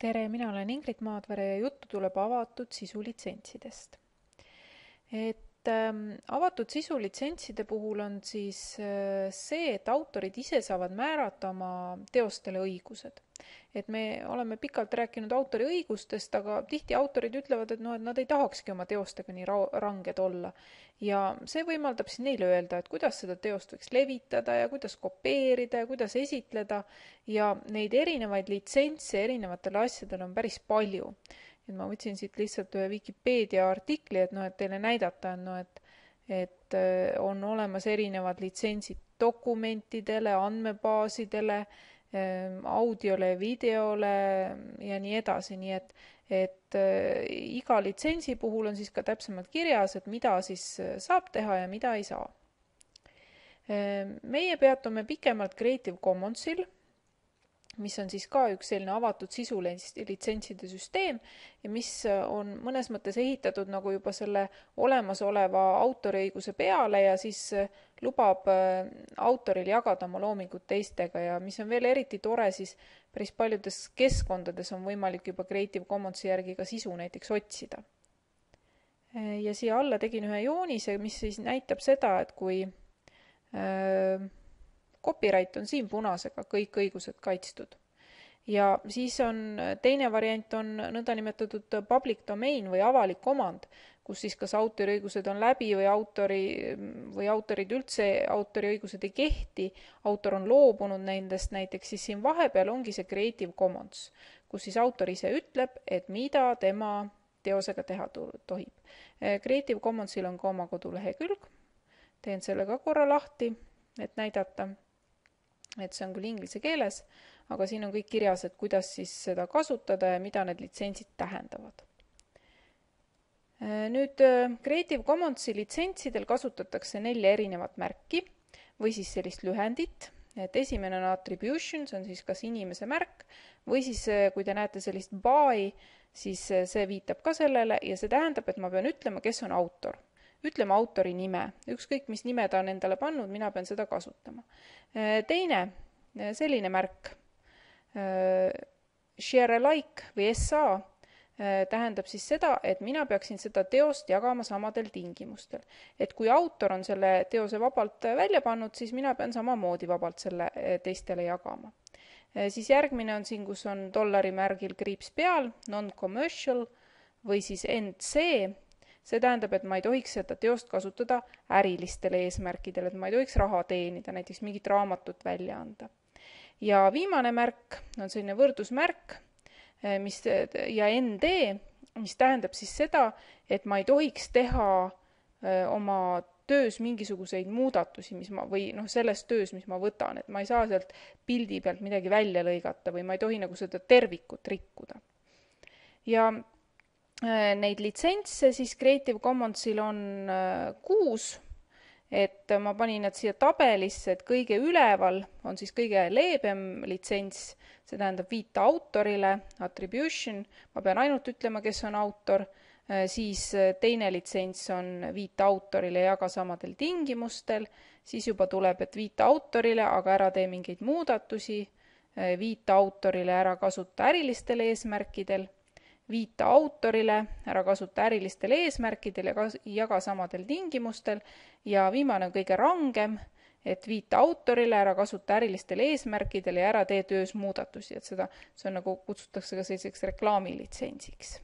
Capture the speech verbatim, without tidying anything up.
Tere, mina olen Ingrid Maadvere ja juttu tuleb avatud sisulitsentsidest. Et ähm, avatud sisulisentside puhul on siis äh, see, et autorid ise saavad määrata oma teostele õigused. Et me oleme pikalt rääkinud autori õigustest, aga tihti autorid ütlevad, et, no, et nad ei tahakski oma teostega nii ra ranged olla. Ja see võimaldab siis neile öelda, et kuidas seda teost võiks levitada ja kuidas kopeerida ja kuidas esitleda. Ja neid erinevaid litsentse erinevatele asjadele on päris palju. Et ma võtsin siit lihtsalt ühe Wikipedia artikli, et, no, et teile näidata, no, et, et on olemas erinevad litsentsid dokumentidele, andmebaasidele, audiole, videole ja nii edasi, nii et, et iga litsentsi puhul on siis ka täpsemalt kirjas, et mida siis saab teha ja mida ei saa. Meie peatume pikemalt Creative Commonsil, mis on siis ka üks selline avatud sisulisentside süsteem ja mis on mõnes mõttes ehitatud nagu juba selle olemasoleva autoriõiguse peale ja siis lubab autoril jagada oma loomingut teistega ja mis on veel eriti tore, siis päris paljudes keskkondades on võimalik juba Creative Commonsi järgi ka sisu näiteks otsida. Ja siia alla tegin ühe joonise, mis siis näitab seda, et kui äh, copyright on siin punasega, kõik õigused kaitstud. Ja siis on teine variant on nõndanimetatud public domain või avalik omand, kus siis kas autoriõigused on läbi või, autori, või autorid üldse autoriõigused ei kehti, autor on loobunud nendest näiteks, siis siin vahepeal ongi see Creative Commons, kus siis autor ise ütleb, et mida tema teosega teha tohib. Creative Commonsil on ka oma kodulehekülg, teen selle ka korra lahti, et näidata, et see on küll inglise keeles, aga siin on kõik kirjas, et kuidas siis seda kasutada ja mida need litsentsid tähendavad. Nüüd Creative Commonsi litsentsidel kasutatakse nelja erinevat märki või siis sellist lühendit, et esimene on attribution, see on siis kas inimese märk või siis kui te näete sellist by, siis see viitab ka sellele ja see tähendab, et ma pean ütlema, kes on autor. Ütleme autori nime. Ükskõik, mis nime ta on endale pannud, mina pean seda kasutama. Teine, selline märk, share alike või S A, tähendab siis seda, et mina peaksin seda teost jagama samadel tingimustel. Et kui autor on selle teose vabalt välja pannud, siis mina pean samamoodi vabalt selle teistele jagama. Siis järgmine on siin, kus on dollari märgil kriips peal, non-commercial või siis N C. See tähendab, et ma ei tohiks seda teost kasutada ärilistele eesmärkidele, et ma ei tohiks raha teenida, näiteks mingit raamatut välja anda. Ja viimane märk on selline võrdusmärk mis, ja N D, mis tähendab siis seda, et ma ei tohiks teha oma töös mingisuguseid muudatusi, mis ma, või noh, selles töös, mis ma võtan, et ma ei saa sealt pildi pealt midagi välja lõigata või ma ei tohi nagu seda tervikut rikkuda. Ja neid litsentse siis Creative Commonsil on kuus, et ma panin nad siia tabelisse, et kõige üleval on siis kõige leebem litsents, see tähendab viita autorile, attribution, ma pean ainult ütlema, kes on autor, siis teine litsents on viita autorile ja jaga samadel tingimustel, siis juba tuleb, et viita autorile, aga ära tee mingeid muudatusi, viita autorile ära kasuta ärilistel eesmärkidel, viita autorile, ära kasuta ärilistel eesmärkidel ja jaga samadel tingimustel ja viimane on kõige rangem, et viita autorile, ära kasuta ärilistel eesmärkidel ja ära tee töös muudatusi, et seda, see on nagu kutsutakse ka selliseks reklaamilitsentsiks.